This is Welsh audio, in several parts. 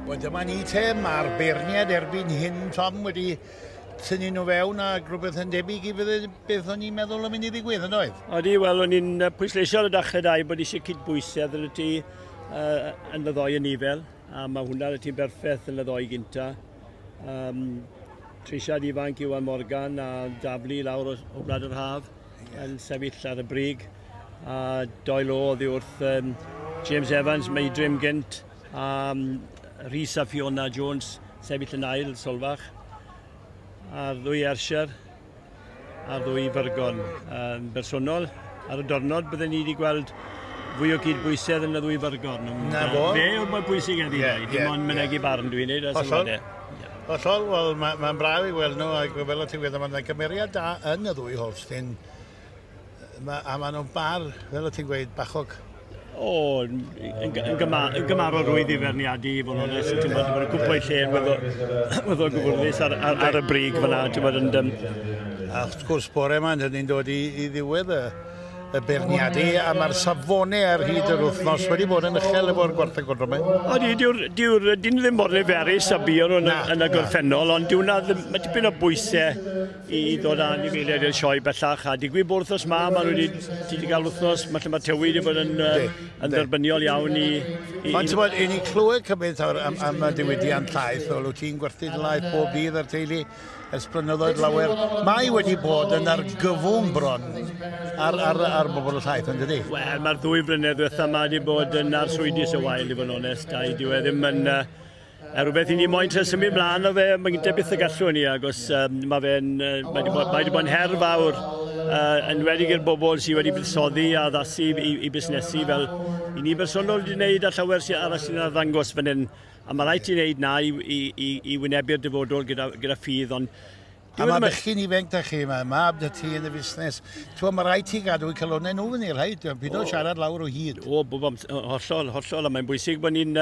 Wel, dyma ni te, mae'r beirniad erbyn hyn, Tom, wedi tynnu nhw fewn a rhywbeth yn debyg i fydde beth o'n i'n meddwl yn mynd i ddigwydd, yn oedd? Odi, wel, o'n i'n pwysleisio ar y dechrau dau bod eisiau cydbwysedd yn y tŷ yn y ddoi yn nifel, a mae hwnna yn y tŷ'n berffaith yn y ddoi gynta. Treisiad ifanc Iwan Morgan a daflu lawr o Gwlad yr Haf yn sefyll ar y brig, a doi lo oddi wrth James Evans, Meidrim gynt, a Rhys a Fiona Jones sefyll yn ail Solfach, a'r ddwy Ayrshire a'r ddwy Fyrgon. Yn bersonol, ar y diwrnod byddwn ni wedi gweld fwy o gydbwysedd yn y ddwy Fyrgon. Na fo. Fe yw'r mwy bwysig heddi, dim ond mynegi barn dwi'n neud. Hollol. Hollol, wel mae'n braf i weld nhw, ac fel o ti'n gweud, mae'n gymeriad da yn y ddwy Holstein, a maen nhw'n bar, fel o ti'n gweud, bachog. O, yn gymarol rwydd i ferniadu, i fod yn onest, ti'n bod, mae'n cwpl o'i lle yn weddol gyfwrddus ar y brig fyna, ti'n bod, yn... A wrth gwrs, bore yma, dyn ni'n dod i ddiwedd y beirniadu, a mae'r safonau ar hyd yr wythnos wedi bod yn uchel efo'r gwartheg godro. Odi, dyn ddim mor niferus a buon nhw yn y gorffennol, ond mae dipyn o bwysau i ddod â anifeiliaid i'r sioe bellach, a digwydd bod wythnos ma, maen nhw wedi cael wythnos, mae lle mae tywydd wedi bod yn dderbyniol iawn i... Ond ti'n bod, i ni clywed cymaint am y diwydiant llaeth, fel wyt ti'n gwerthu dy laeth bob dydd ar teulu ers blynyddoedd lawer, mae wedi bod yn argyfwng bron ar bobl y llaeth, yn dydi? Wel, mae'r ddwy flynedd ddiwetha yma wedi bod yn arswydus o wael, i fod yn onest, a dyw e ddim yn... rhywbeth i ni moyn trio symud mlaen o fe, mae'n gyda byth y gallwn ni, agos mae fe'n, mae wedi bod yn her fawr, enwedig i'r bobl sydd wedi buddsoddi a addasu i busnesu, fel i ni bersonol wedi wneud a llawer sy'n arall sy'n arddangos fan hyn. A mae rhaid i wneud na i wynebu'r dyfodol gyda ffydd, ond... A mae bechgyn ifanc da chi, mae mab da ti yn y busnes. Ti'n mae rhaid ti gadw i calonnau nhw fyny, rhaid. Pido siarad lawr o hyd. O, hollol, hollol, a mae'n bwysig bod ni'n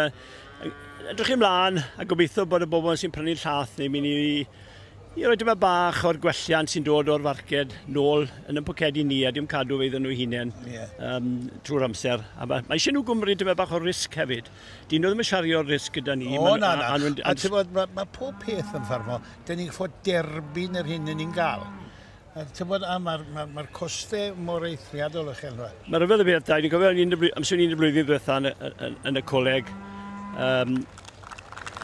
edrych ymlaen a gobeithio bod y bobl sy'n prynu llath ni'n mynd i roi dyma bach o'r gwelliant sy'n dod o'r farced nôl yn y pocedi ni a dim cadw fe iddyn nhw hunain trwy'r amser. A mae eisiau nhw gymryd dyma bach o risg hefyd. Dyn nhw ddim yn siario'r risg gyda ni. O, na, na. A ti'n bod, mae pob peth yn ffarmo, dyn ni'n fod derbyn yr hyn ni'n gael. A ti'n bod, a mae'r costau mor eithriadol uchel. Mae rhyfedd y beth, da. Dwi'n cofio amser o'n i'n y blwyddyn ddiwetha yn y coleg,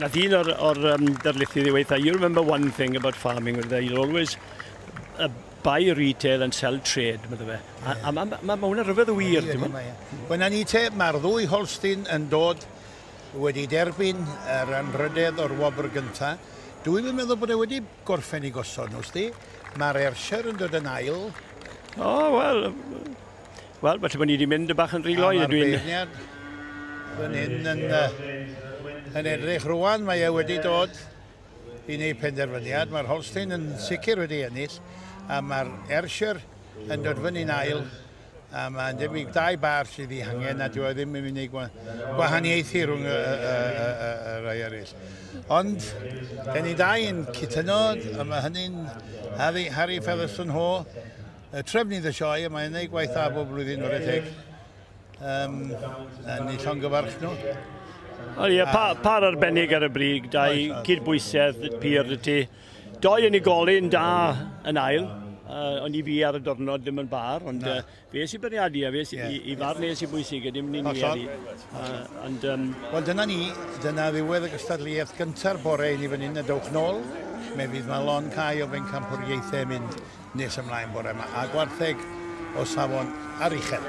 nath un o'r darlithydd i weithio, you remember one thing about farming, you'll always buy retail and sell trade, meddwl fe. A mae hwnna rhyfedd o wir, ti'n gwbod? Wel, na ni te, mae'r ddwy Holstein yn dod wedi derbyn yr anrhydedd o'r wobr gyntaf. Dwi'n meddwl bod e wedi gorffen i gosod nhw, sdi. Mae'r Ayrshire yn dod yn ail. O, wel, falle bod ni wedi mynd y bach yn rhy gloi. A mae'r beirniad fan hyn yn edrych rwan, mae e wedi dod i wneud penderfyniad. Mae'r Holstein yn sicr wedi ennill, a mae'r Ayrshire yn dod fyny'n ail, a mae'n debyg dau bar sydd ei hangen, a dyw e ddim yn mynd i gwahaniaethu rhwng y rhai eraill. Ond, dyn ni dau yn cytuno, a mae hynny'n Harry Featherstone Ho, trefnydd y sioe, a mae'n gwneud gwaith da bob blwyddyn o'r teg. A ni llongyfarch nhw. O ie, par arbennig ar y brig, dau cydbwysedd pur y ti. Doi unigolyn da yn ail, ond i fi ar y diwrnod ddim yn bar, ond fe sy'n beirniadu a fe i farn e sy'n bwysig, a dim ni ni. Wel, dyna ni, dyna ddiwedd y gystadleuaeth gynta'r bore i ni fan hyn, a dowch nôl. Me fydd ma lon cae o bencampwriaethau mynd nes ymlaen bore yma, a gwartheg o safon aruchel.